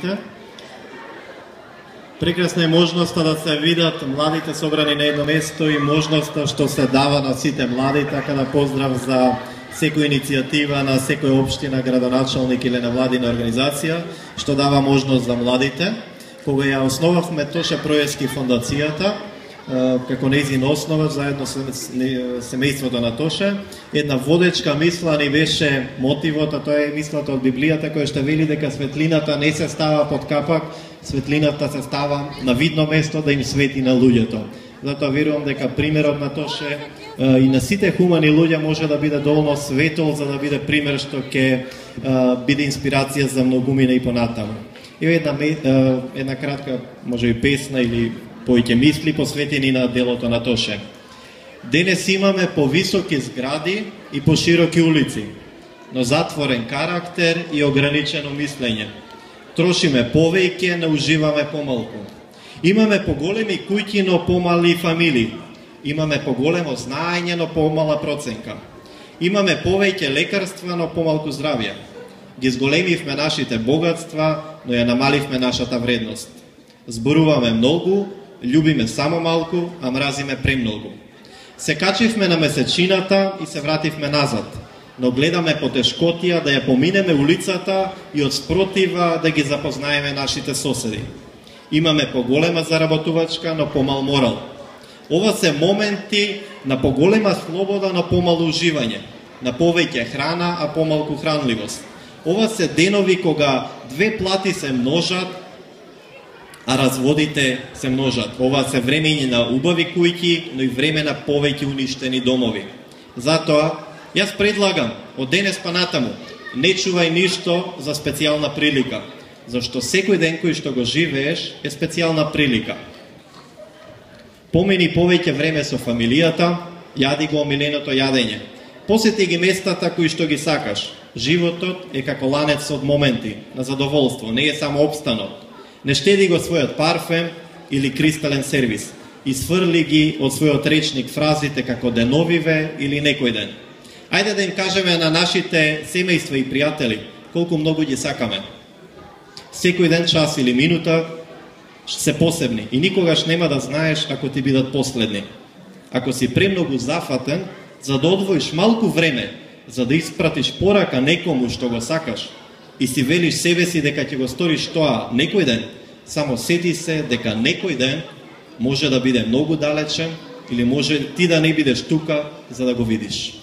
сите. Прекрасна е можноста да се видат младите собрани на едно место и можноста што се дава на сите млади, така да поздрав за секоја иницијатива на секоја општина, градоначалник или невладина организација, што дава можност за младите. Кога ја основавме Тоше Проески фондацијата, како нејзин основач, заедно со семејството на Тоше, една водечка мисла ни беше мотивот, а тоа е мислата од Библијата, која што вели дека светлината не се става под капак, светлината се става на видно место да им свети на луѓето. Затоа верувам дека примерот на Тоше и на сите хумани луѓе може да биде доволно светол за да биде пример што ќе биде инспирација за многумина и понатаму. И една кратка, може и песна или повеќе мисли посветени на делото на Тоше. Денес имаме повисоки згради и пошироки улици, но затворен карактер и ограничено мислење. Трошиме повеќе, не уживаме помалку. Имаме поголеми куќи, но помали фамилии. Имаме поголемо знаење, но помала проценка. Имаме повеќе лекарства, но помалку здравје. Ги зголемивме нашите богатства, но ја намаливме нашата вредност. Зборуваме многу, љубиме само малку, а мразиме премногу. Се качивме на месечината и се вративме назад, но гледаме потешкотија да ја поминеме улицата и од спротива да ги запознаеме нашите соседи. Имаме поголема заработувачка, но помал морал. Ова се моменти на поголема слобода, но помало уживање, на повеќе храна, а помалку хранливост. Ова се денови кога две плати се множат, а разводите се множат. Ова се времења на убави куќи, но и време на повеќе уништени домови. Затоа, јас предлагам, од денес па натаму, не чувај ништо за специјална прилика, зашто секој ден кој што го живееш е специјална прилика. Помени повеќе време со фамилијата, јади го омиленото јадење. Посети ги местата кои што ги сакаш. Животот е како ланец од моменти на задоволство, не е само обстанок. Не штеди го својот парфем или кристален сервис и сврли ги од својот речник фразите како деновиве или некој ден. Ајде да им кажеме на нашите семејства и пријатели колку многу ги сакаме. Секој ден, час или минута се посебни и никогаш нема да знаеш ако ти бидат последни. Ако си премногу зафатен за да одвоиш малку време за да испратиш порака некому што го сакаш и си велиш себе си дека ќе го сториш тоа некој ден, само сети се дека некој ден може да биде многу далечен или може ти да не бидеш тука за да го видиш.